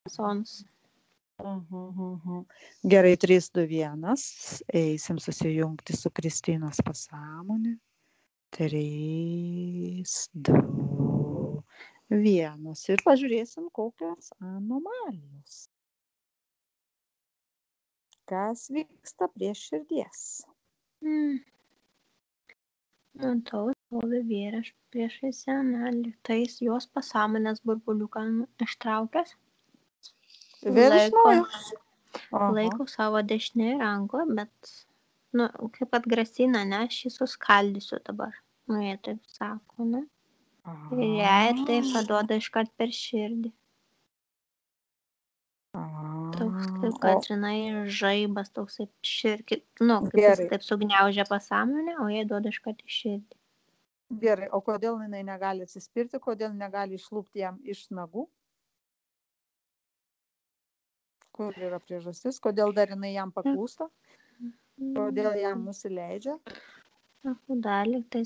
Sons. Gerai, 3, 2, 1. Eisim susijungti su Kristinos pasąmonė. 3, 2, 1. Ir pažiūrėsim, kokios anomalijos. Kas vyksta prie širdies? Matau, stovi vyras priešais senelį. Tais jos pasąmonės burbuliuką ištraukęs. Laiko savo dešinėje rankoje, bet, kaip atgrasina, ne, aš jį suskaldysiu dabar. Jie taip sako, ne? Ir jai tai paduoda iškart per širdį. Toks, kaip kad, žinai, žaibas toksai širdį, kaip jis taip sugniaužia pasąmonę, o jai duoda iškart į širdį. Gerai, o kodėl jinai negali atsispirti, kodėl negali išlūpti jam iš nagų? Kur yra priežastis, kodėl dar jinai jam paklūsta, kodėl jam nusileidžia? Dalį, tai,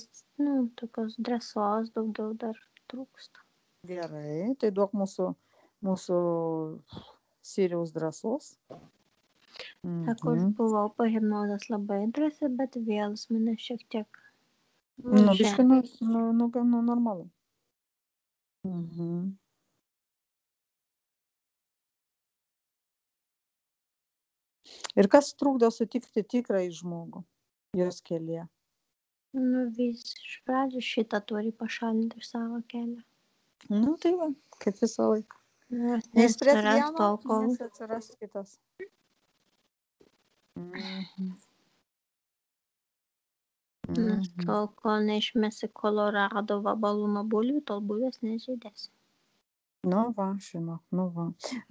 tokios drąsos daugiau dar trūksta. Gerai, tai duok mūsų Siriaus drąsos. Sako, aš buvau po hipnozės labai drąsi, bet vėl mane šiek tiek biškai, normalu. Ir kas trukdo sutikti tikrąjį žmogų jos kelyje? Vis iš pradžių šitą turi pašalinti iš savo kelio. Tai va, kaip visą laiką. Neatsiras tol, kol... Nes atsiras kitas. Tol, kol neišmesi Kolorado vabalų nuo bulvių, tol bulvės nežydės. Va.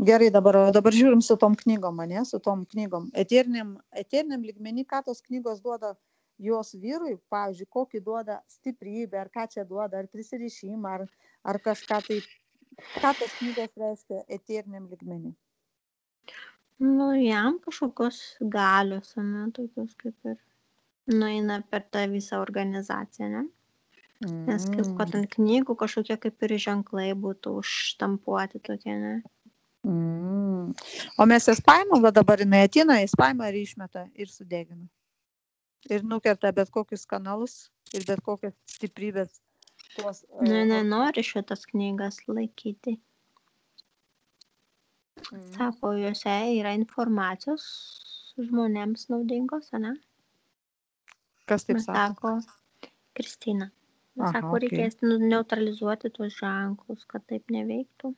Gerai, dabar žiūrim su tom knygom, su tom knygom. Eteriniam lygmenį, ką tos knygos duoda jos vyrui, pavyzdžiui, kokį duoda stiprybę, ar ką čia duoda, ar prisirišimą, ar kažką tai, ką tos knygos reiškia eteriniam lygmenį? Jam kažkokios galios, tokios kaip ir nueina per tą visą organizaciją, ne? Nes kaip kad ant knygų kažkokie kaip ir ženklai būtų užštampuoti tokie, ne? O mes jas paimam, va dabar jinai ateina, jis paima ir išmeta ir sudegina. Ir nukerta bet kokius kanalus ir bet kokias stiprybės. Nenori šitas knygas laikyti. Sako, juose yra informacijos žmonėms naudingos, ne? Kas taip sako? Sako Kristina. Sako, reikės neutralizuoti tuos ženklus, kad taip neveiktų.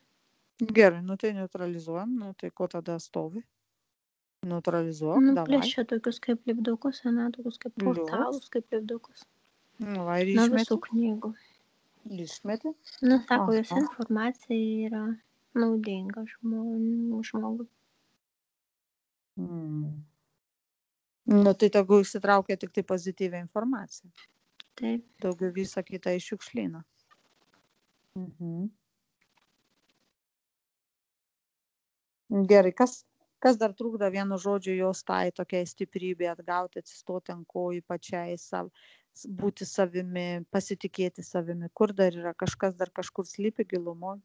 Gerai, tai neutralizuojam, tai ko tada stovi? Neutralizuok, davai. Plėšia tokius kaip lipdukus, tokius kaip portalus, kaip lipdukus. Ir nuo visų knygų. Išmeti? Sako, jos informacija yra naudinga žmogui. Tai tegu išsitraukia tik tai pozityvią informaciją. Taip. Daugiau visą kitą išiukšlina. Gerai, kas dar trukdo vienu žodžiu jos tai tokiai stiprybė atgauti, atsistoti ant kojų pačiai, būti savimi, pasitikėti savimi? Kur dar yra? Kažkas dar kažkur slypi gilumoje?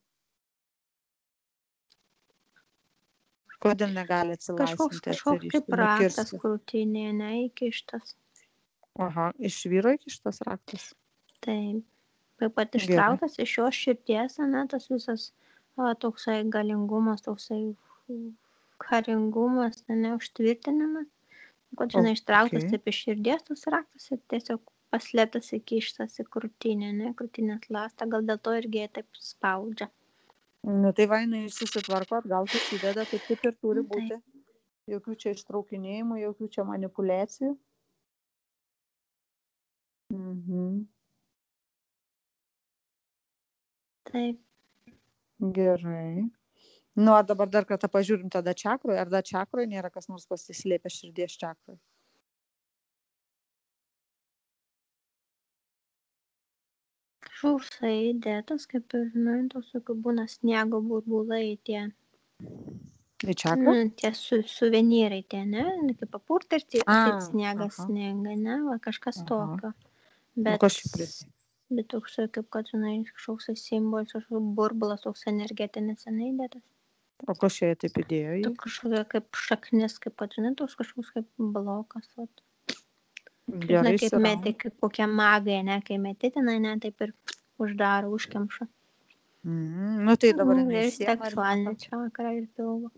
Kodėl negali atsilaisvinti? Kažkoks kaip raktas krūtinėje, neįkištas. Iš vyro įkištas raktas? Taip. Taip pat ištrauktas iš jos širdies, tas visas toksai galingumas, toksai karingumas, užtvirtinimas. Kad ištrauktas taip iš širdies tas raktas ir tiesiog paslėptas įkištas į krūtinę, krūtinės ląstą, gal dėl to irgi taip spaudžia. Tai va, jinai susitvarko, atgal susideda, taip ir turi būti. Jokių čia ištraukinėjimų, jokių čia manipulacijų. Taip. Gerai. Dabar dar kartą pažiūrim tada čakroje. Ar dar čakroje nėra kas nors pasislėpę širdies čakroje? Kažkoksai įdėtas, kaip ir, tokių būna sniego burbulai tie. Į čakrą? Tie suvenyrai tie, ne? Kaip papurta ir taip sniegas sninga, ne? Va, kažkas tokio. Bet toks, kaip kad, kažkoks simbolis, kažkoks burbulas, toks energetinis įdėtas. O ko šiai taip įdėjo? Tu kažkokia kaip šaknis, kaip žinai, toks kažkoks kaip blokas. Vat. Žinai, kaip metė, kaip kokie magai, ne, kai metėtinai, ne, taip ir uždaro, užkemša. Nu tai dabar ir seksualinė čakra ir pilvo.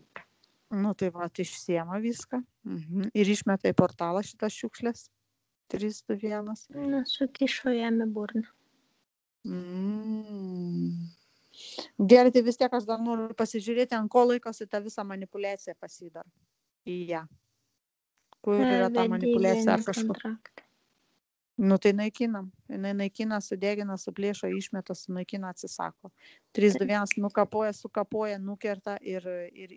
Nu tai va, išsiema viską. Ir išmeta į portalą šitas šiukšlės. 3, 2, 1. Na, sukišo jam į burną. Gerai, tai vis tiek aš dar noriu pasižiūrėti, ant ko laikosi ta visa manipulacija pasidar į ją. Kur yra ta manipulacija ar kažkur. Nu tai naikinam. Jinai naikina, sudegina, suplėšo, išmeta, sunaikina, atsisako. 3, 2, 1 nukapoja, sukapoja, nukerta ir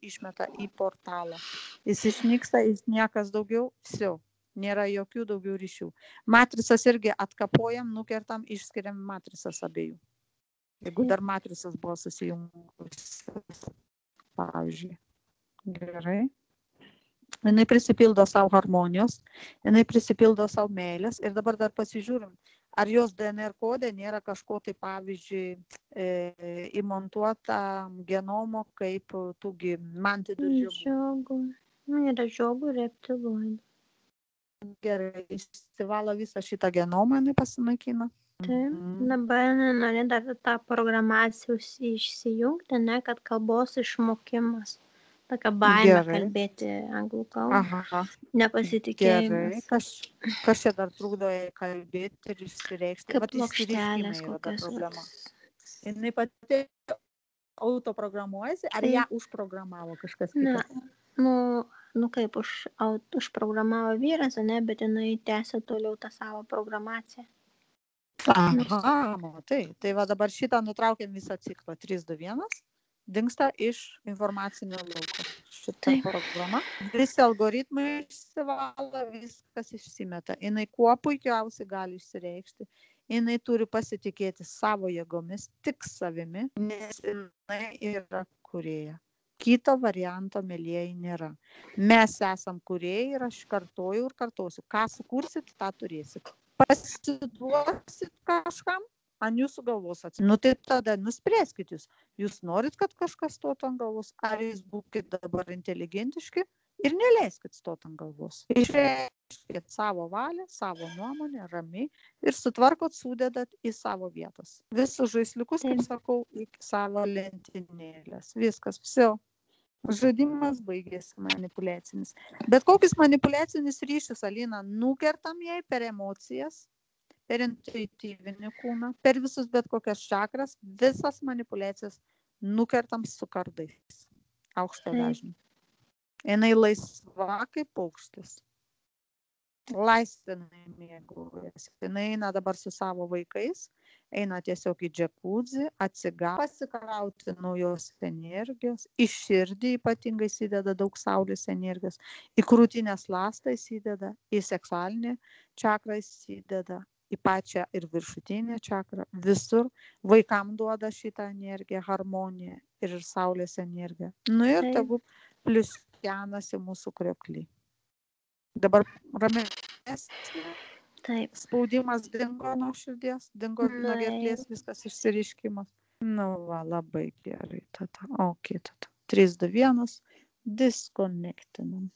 išmeta į portalą. Jis išnyksta, jis niekas daugiau, vsiau. Nėra jokių daugiau ryšių. Matricas irgi atkapojam, nukertam, išskiriam matricas abiejų. Jeigu dar matricas buvo susijungus, pavyzdžiui. Gerai. Jinai prisipildo savo harmonijos, jinai prisipildo savo meilės ir dabar dar pasižiūrim, ar jos DNR kode nėra kažko tai, pavyzdžiui, įmontuota genomo kaip tūgi mantidų žiogų. Yra žiogų reptiloidų. Gerai, išsivalo visą šitą genomą, jinai pasinaikina. Taip, dabar nori dar tą programaciją išsijungti, ne, kad kalbos išmokimas. Tokia baimė kalbėti anglų kalbą. Nepasitikėjimas. Gerai, kas čia dar trukdo kalbėti ir išsireikšti? Kaip plokštelės kokios. Jinai pati autoprogramuojasi, ar ją užprogramavo kažkas kitas? Nu kaip užprogramavo vyras, ne, bet jinai tęsia toliau tą savo programaciją. Aha, tai va dabar šitą nutraukiam visą ciklą. 3, 2, 1. Dingsta iš informacinio lauko. Šitą programą. Visi algoritmai išsivalo, viskas išsimeta. Jinai kuo puikiausiai gali išsireikšti. Jinai turi pasitikėti savo jėgomis, tik savimi, nes jinai yra kūrėja. Kito varianto, mielieji, nėra. Mes esam kūrėjai ir aš kartoju ir kartosiu. Ką sukursit, tą turėsit. Pasiduosit kažkam, ant jūsų galvos atsitikti. Nu tai tada nuspręskit jūs. Jūs norit, kad kažkas stotų ant galvos, ar jūs būkit dabar inteligentiški ir neleiskit stot ant galvos. Išreiškit savo valią, savo nuomonę, ramiai ir sutvarkot, sudedat į savo vietas. Visus žaisliukus, kaip sakau, į savo lentynėlės. Viskas, visi. Žaidimas baigėsi manipulacinis. Bet kokius manipulacinius ryšius, Alina, nukertam jai per emocijas, per intuityvinį kūną, per visus bet kokias čakras, visas manipulacijas nukertam su kardais. Aukšto dažnio. Jinai laisva kaip paukštis. Laisvinai mėgaujasi. Jinai eina dabar su savo vaikais, eina tiesiog į džekudzi, pasikrauti naujos energijos, į širdį ypatingai įsideda daug saulės energijos, į krūtinės ląstą įsideda, į seksualinę čakrą įsideda, į pačią ir viršutinę čakrą, visur vaikam duoda šitą energiją, harmoniją ir saulės energiją. Nu ir tegu pliuskenasi mūsų krioklį. Dabar ramesnė. Taip. Spaudimas dingo nuo širdies, dingo nuo gerklės, viskas išsiriškimas. Nu va, labai gerai tada. Ok, tada. 3, 2, 1. Disconnectinam.